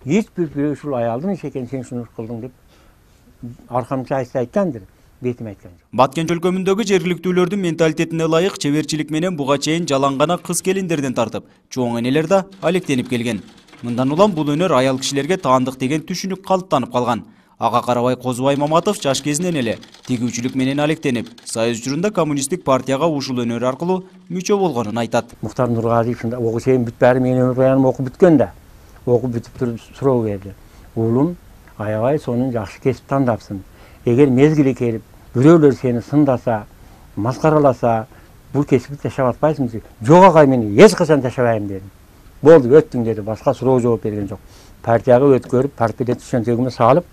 Hiç bir ушул аялдын иш экен, сен шуну кылдың деп аркамча айткандыр, бетим айткан жок. Баткен өлкөмүндөгү жергиликтүүлөрдүн менталитетине ылайык чеберчилик менен буга чейин жалаң гана кыз келиндерден тартып, чоң энелер да алектенип келген. Мындан улам бул өнөр аял кишилерге таандык деген түшүнүк калыптанып калган. Ага карабай Козубай Маматов жаш кезинен эле тигүүчүлүк менен алектенип, Союз учурунда коммунисттик партияга ушул өнөр аркылуу мүчө болгонун айтат. Мухтар Нургазиевдин окуу чейин бүтпөйрү, менин өмүр баяным окуп бүткөн да. Окуп бүтүп туруп суроо берди. Уулум, аябай сонун жакшы кесип тандапсың. Эгер мезгили келип, бирөөлөр сени сындаса, маскараласа, бул кесипти ташап атпайсыңбы? Жок агай, мен эч качан ташабайм дедим. Болду, өттүң деди, башка суроо жооп берген жок. Партияга өткөрүп, партияда түшөнтөгүмө салып,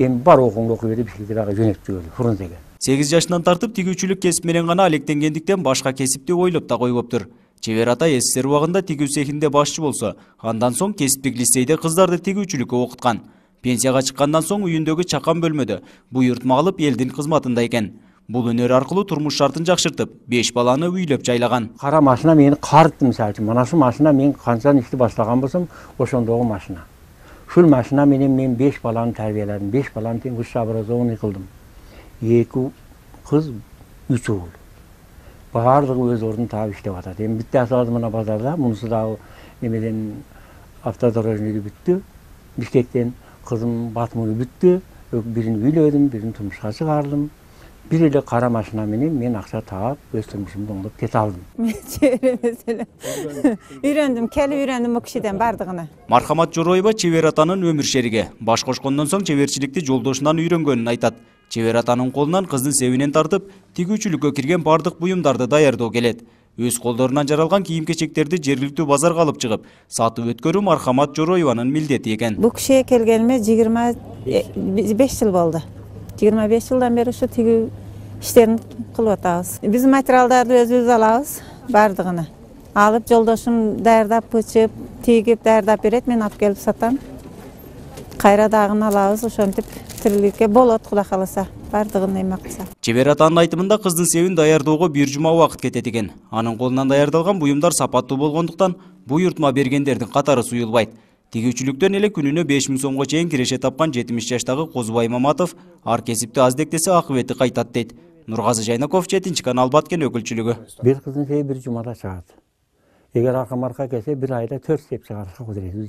эми бар окууңду окуй бер деп бишкектерге жөнөтүп жиберди, Фрунзеге. 8 жашынан тартып тигүүчүлүк кесип менен гана алектенгендиктен башка кесипти ойлоп да койбоптур. Чебер ата СССР убагында тигүү цехинде башчы болсо, андан соң кесиптик лицейде кыздарды тигүүчүлүккө окуткан. Пенсияга чыккандан соң үйүндөгү чакан бөлмөдө буйртма алып элдин кызматында экен. Бул өнөр аркылуу турмуш шартын жакшыртып, 5 баланы үйлөп жайлаган. Кара машина мени карытты, мисалы үчүн. Мына ушул машина мен канча ишти башлаган болсом, ошондогу машина. Ушул машина менен мен 5 баланы тарбияладым. 5 баланы тең высший образованный кылдым. 2 кыз, 3 уул. Баардыгы өз ордун таап иштеп атат. Эми биттеси азыр мына базарда, мунусу дагы немеден автодорожныйды бүттү. Бишкектен кызым Батмуну бүттү. Бирин үйлөдүм, бирин турмушка чыгардым. Бир эле кара машина менен мен акча таап, өз турмушумду оңдоп кете алдым. Мен чебер эмес эле. Үйрөндүм, келип үйрөндүм у кишиден бардыгына. Мархамат Жороева Чебер атанын өмүр шериги. Баш кошкондон соң чеберчиликти жолдошунан үйрөнгөнүн айтат. Чебер атанын колунан кыздын себинен тартып, тигүүчүлүккө кирген бардык буюмдарды даярдоо келет. Өз колдорунан жаралган кийим-кечектерди жергиликтүү базарга алып чыгып, сатып өткөрүү Мархамат Жороеванын милдети экен. Бул кишиге келгениме 25 жыл болду. 25 жылдан бери ушу тигүү иштерин кылып атабыз. Биз материалдарды өзүбүз алабыз, бардыгына. Алып жолдошум даярдап, пычып, тигип даярдап берет, мен алып келип сатам. Кайра дагын алабыз, ошентип тириликке болот, Кудай кааласа, бардыгын эме кылса. Чебер атанын айтымында кыздын себин даярдоого 1 жума убакыт кетет экен. Анын колунан даярдалган буюмдар сапаттуу болгондуктан буйртма бергендердин катары суюлбайт. Тигүүчүлүктөн эле күнүнө 5000 сомго чейин киреше тапкан 70 жаштагы Козубай Маматов ар кесипти аздектесе акыбети кайтат дейт. Нургазы Жайнаков, 7-канал Баткен өкүлчүлүгү. Бир кыздын себи 1 жумада чыгат. Эгер арка-марка келсе 1 айда 4 сеп чыгарышка кудурети